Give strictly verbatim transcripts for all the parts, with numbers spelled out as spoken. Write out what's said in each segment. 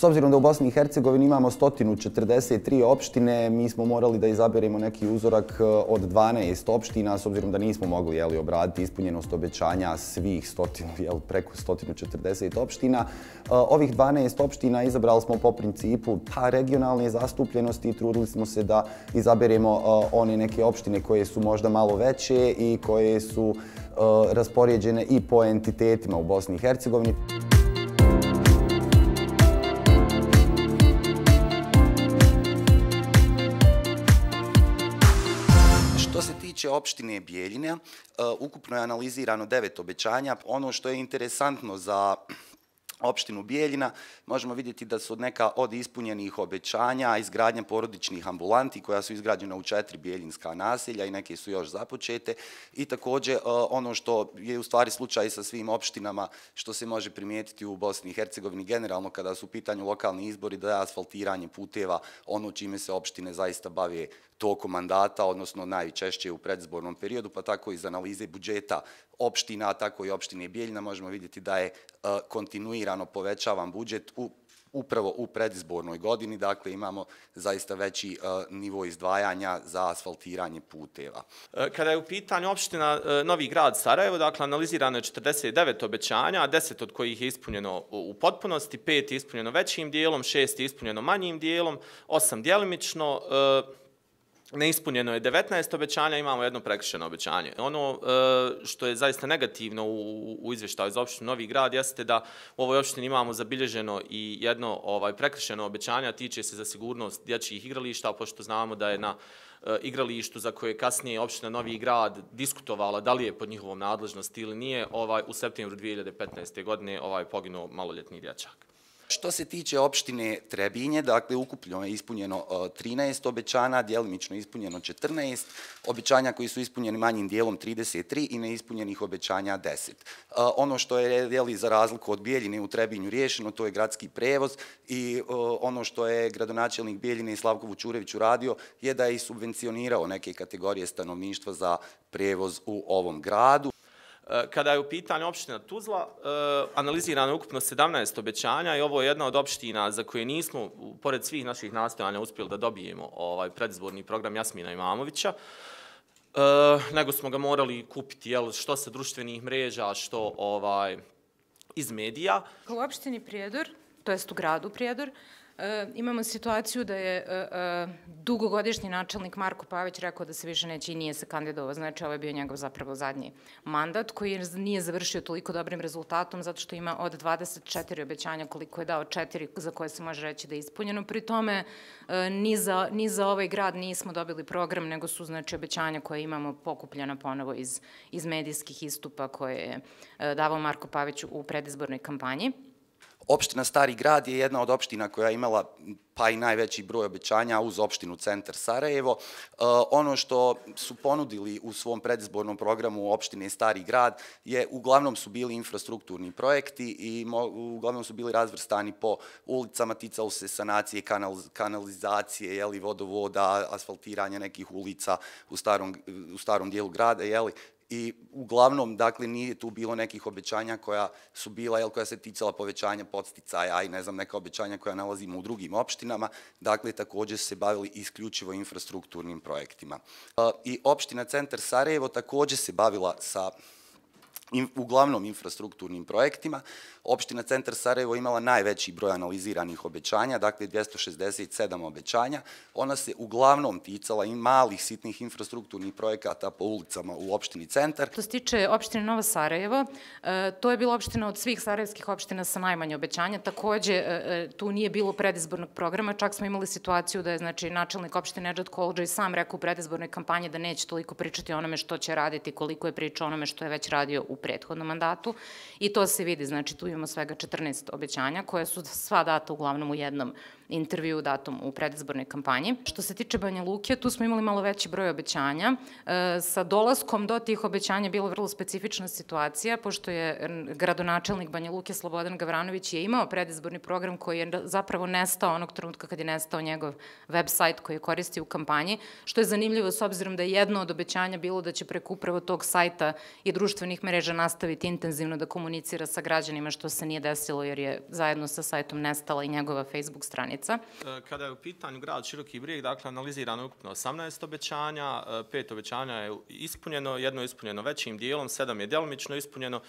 S obzirom da u Bosni i Hercegovini imamo sto četrdeset tri opštine, mi smo morali da izaberemo neki uzorak od dvanaest opština, s obzirom da nismo mogli jeli, obraditi ispunjenost obećanja svih stotinu, jel, preko sto četrdeset opština. Ovih dvanaest opština izabrali smo po principu pa, regionalne zastupljenosti i trudili smo se da izaberemo one neke opštine koje su možda malo veće i koje su raspoređene i po entitetima u Bosni i Hercegovini. Što se tiče opštine Bijeljina, ukupno je analizirano devet obećanja. Ono što je interesantno za opštinu Bijeljina, možemo vidjeti da su neka od ispunjenih obećanja izgradnja porodičnih ambulanti koja su izgrađena u četiri bijeljinska naselja i neke su još započete. I također ono što je u stvari slučaj sa svim opštinama što se može primijetiti u Bosni i Hercegovini generalno kada su u pitanju lokalni izbori, da je asfaltiranje puteva ono čime se opštine zaista bave tokom mandata, odnosno najčešće u predizbornom periodu, pa tako iz analize budžeta opština, tako i opštine Bijeljina možemo vidjeti da je kontinuirano povećavan budžet upravo u predizbornoj godini, dakle imamo zaista veći nivo izdvajanja za asfaltiranje puteva. Kada je u pitanju opština Novi Grad Sarajevo, dakle analizirano je četrdeset devet obećanja, deset od kojih je ispunjeno u potpunosti, pet je ispunjeno većim dijelom, šest je ispunjeno manjim dijelom, osam djelimično, neispunjeno je devetnaest obećanja, imamo jedno prekršeno obećanje. Ono što je zaista negativno u izvještaju za opštinu Novi Grad jeste da u ovoj opštini imamo zabilježeno i jedno prekršeno obećanje, a tiče se za sigurnost dječjih igrališta, pošto znamo da je na igralištu za koje kasnije opština Novi Grad diskutovala da li je pod njihovom nadležnosti ili nije, u septembru dvije hiljade petnaeste. godine poginuo maloljetni dječak. Što se tiče opštine Trebinje, dakle, ukupno je ispunjeno trinaest obećanja, djelimično ispunjeno četrnaest, obećanja koji su ispunjeni manjim dijelom trideset tri i neispunjenih obećanja deset. Ono što je, jeli, za razliku od Bijeljine u Trebinju riješeno, to je gradski prevoz i ono što je gradonačelnik Bijeljine Slavko Vučurević uradio je da je i subvencionirao neke kategorije stanovništva za prevoz u ovom gradu. Kada je u pitanju opština Tuzla, analizirano je ukupno sedamnaest obećanja i ovo je jedna od opština za koje nismo, pored svih naših nastojanja, uspjeli da dobijemo predizborni program Jasmina Imamovića, nego smo ga morali kupiti što sa društvenih mreža, što iz medija. U opštini Prijedor, to jest u gradu Prijedor, imamo situaciju da je dugogodišnji načelnik Marko Pavić rekao da se više neće i nije se kandidovao. Znači, ovo je bio njegov zapravo zadnji mandat koji nije završio toliko dobrim rezultatom zato što ima od dvadeset četiri obećanja koliko je dao četiri za koje se može reći da je ispunjeno. Pri tome, ni za ovaj grad nismo dobili program, nego su znači obećanja koje imamo pokupljena ponovo iz medijskih istupa koje je davao Marko Pavić u predizbornoj kampanji. Opština Stari Grad je jedna od opština koja je imala pa i najveći broj obećanja uz opštinu Centar Sarajevo. Ono što su ponudili u svom predizbornom programu opštine Stari Grad je uglavnom su bili infrastrukturni projekti i uglavnom su bili razvrstani po ulicama, ticalo se sanacije, kanalizacije, jeli, vodovoda, asfaltiranja nekih ulica u starom dijelu grada, jeli. I uglavnom, dakle, nije tu bilo nekih obećanja koja su bila, jel, koja se ticala povećanja podsticaja i ne znam, neka obećanja koja nalazimo u drugim opštinama. Dakle, također se bavili isključivo infrastrukturnim projektima. I opština Centar Sarajevo također se bavila sa uglavnom infrastrukturnim projektima. Opština Centar Sarajevo imala najveći broj analiziranih obećanja, dakle dvjesto šezdeset sedam obećanja. Ona se uglavnom ticala i malih sitnih infrastrukturnih projekata po ulicama u opštini Centar. Što se tiče opštine Novo Sarajevo, to je bila opština od svih sarajevskih opština sa najmanje obećanja. Također, tu nije bilo predizbornog programa, čak smo imali situaciju da je znači, načelnik opštine Nedžad Koludža i sam rekao u predizbornoj kampanji da neće toliko pričati o onome što će raditi, koliko je pričao o onome što je već radio u prethodnom mandatu i to se vidi, znači tu imamo svega četrnaest obećanja koja su sva data uglavnom u jednom intervju datom u predizbornoj kampanji. Što se tiče Banja Luke, tu smo imali malo veći broj obećanja. Sa dolaskom do tih obećanja je bila vrlo specifična situacija, pošto je gradonačelnik Banja Luke Slobodan Gavranović je imao predizborni program koji je zapravo nestao onog trenutka kad je nestao njegov web sajt koji je koristio u kampanji, što je zanimljivo s obzirom da je jedno od obećanja bilo da će preko upravo tog sajta i društvenih mreža nastaviti intenzivno da komunicira sa građanima, što se nije desilo jer je zajedno sa sajtom nestala i njegova Facebook stranica. Kada je u pitanju grad Široki Brijeg, dakle, analizirano je ukupno osamnaest obećanja, pet obećanja je ispunjeno, jedno je ispunjeno većim dijelom, sedam je djelomično ispunjeno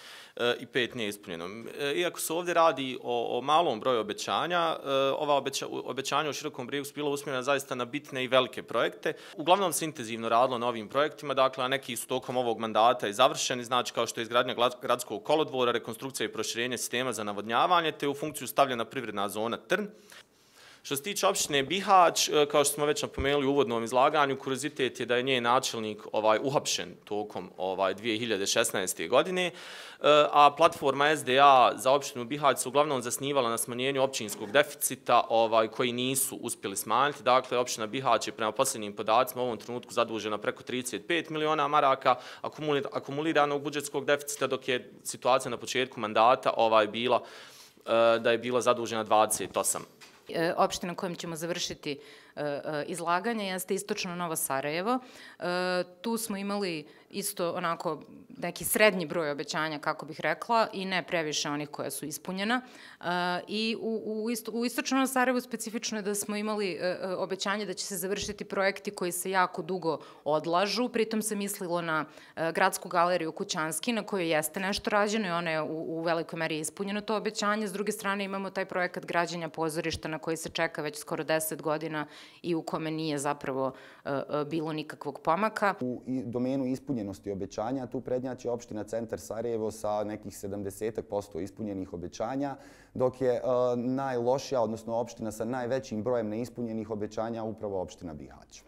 i pet nije ispunjeno. Iako se ovdje radi o, o malom broju obećanja, ova obeća, obećanja u Širokom Brijegu su bila usmjerena zaista na bitne i velike projekte. Uglavnom se intenzivno radilo na ovim projektima, dakle, a neki su tokom ovog mandata i završeni, znači kao što je izgradnja gradskog kolodvora, rekonstrukcija i proširenje sistema za navodnjavanje, te u funkciju stavljena privredna zona Trn. Što se tiče opštine Bihać, kao što smo već napomenuli u uvodnom izlaganju, kuriozitet je da je njen načelnik ovaj, uhapšen tokom ovaj, dvije hiljade šesnaeste. godine, a platforma S D A za opštinu Bihać se uglavnom zasnivala na smanjenju općinskog deficita ovaj, koji nisu uspjeli smanjiti. Dakle, opština Bihać je prema posljednjim podacima u ovom trenutku zadužena preko trideset pet miliona maraka akumuliranog budžetskog deficita, dok je situacija na početku mandata ovaj, bila da je bila zadužena dvadeset osam. Opština kojom ćemo završiti izlaganje jeste istočno Novo Sarajevo. Tu smo imali isto onako neki srednji broj obećanja, kako bih rekla, i ne previše onih koja su ispunjena. I u, u, u istočno Novo Sarajevo specifično je da smo imali obećanje da će se završiti projekti koji se jako dugo odlažu. Pritom se mislilo na gradsku galeriju Kućanski, na kojoj jeste nešto rađeno i ona je u, u velikoj meri ispunjeno to obećanje. S druge strane imamo taj projekat građenja pozorišta na koji se čeka već skoro deset godina i u kome nije zapravo bilo nikakvog pomaka. U domenu ispunjenosti obećanja tu prednjači opština Centar Sarajevo sa nekih sedamdeset posto ispunjenih obećanja, dok je najlošija, odnosno opština sa najvećim brojem neispunjenih obećanja upravo opština Bihać.